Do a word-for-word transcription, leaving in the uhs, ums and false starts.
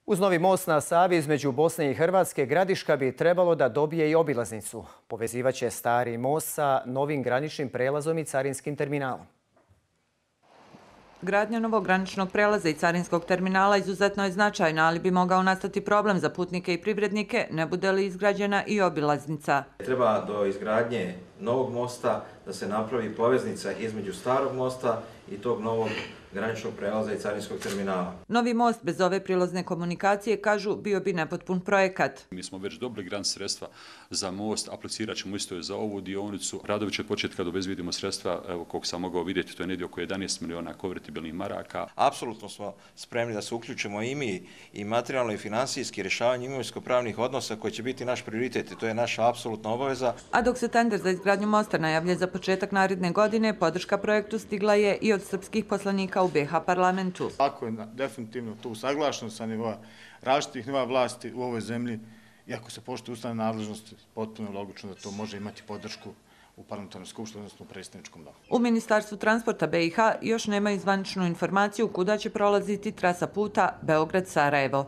Uz novi most na Savi između Bosne i Hrvatske, Gradiška bi trebalo da dobije i obilaznicu. Povezivaće stari most sa novim graničnim prelazom i carinskim terminalom. Gradnja novog graničnog prelaza i carinskog terminala izuzetno je značajna, ali bi mogao nastati problem za putnike i privrednike, ne bude li izgrađena i obilaznica. Treba do izgradnje novog mosta da se napravi poveznica između starog mosta i tog novog graničnog prelaza i carinskog terminala. Novi most bez ove prilazne komunikacije, kažu, bio bi nepotpun projekat. Mi smo već dobili grant sredstva za most, aplicirat ćemo isto za ovu dionicu. Radovi će početi kad obezbijedimo sredstva, evo koliko sam mogao vidjeti, to je negdje oko jedanaest miliona konvertibilnih maraka. Apsolutno smo spremni da se uključimo i mi i materijalno i finansijski rješavanje imovinsko-pravnih odnosa koji će biti naš prioritet i to je naša apsolutna obaveza. A dok se tender za izgradnju mosta najavlja za početak naredne godine, podrška projektu stigla je i od srpskih poslanika u B H parlamentu. Ako je definitivno to usaglašeno sa nivoa različitih nivoa vlasti u ovoj zemlji i ako se poštuje ustavne nadležnosti, potpuno je logično da to može imati podršku u parlamentarnoj skupštini, odnosno u predsjedničkom domu. U Ministarstvu transporta B i H još nemaju zvaničnu informaciju kuda će prolaziti trasa puta Beograd-Sarajevo.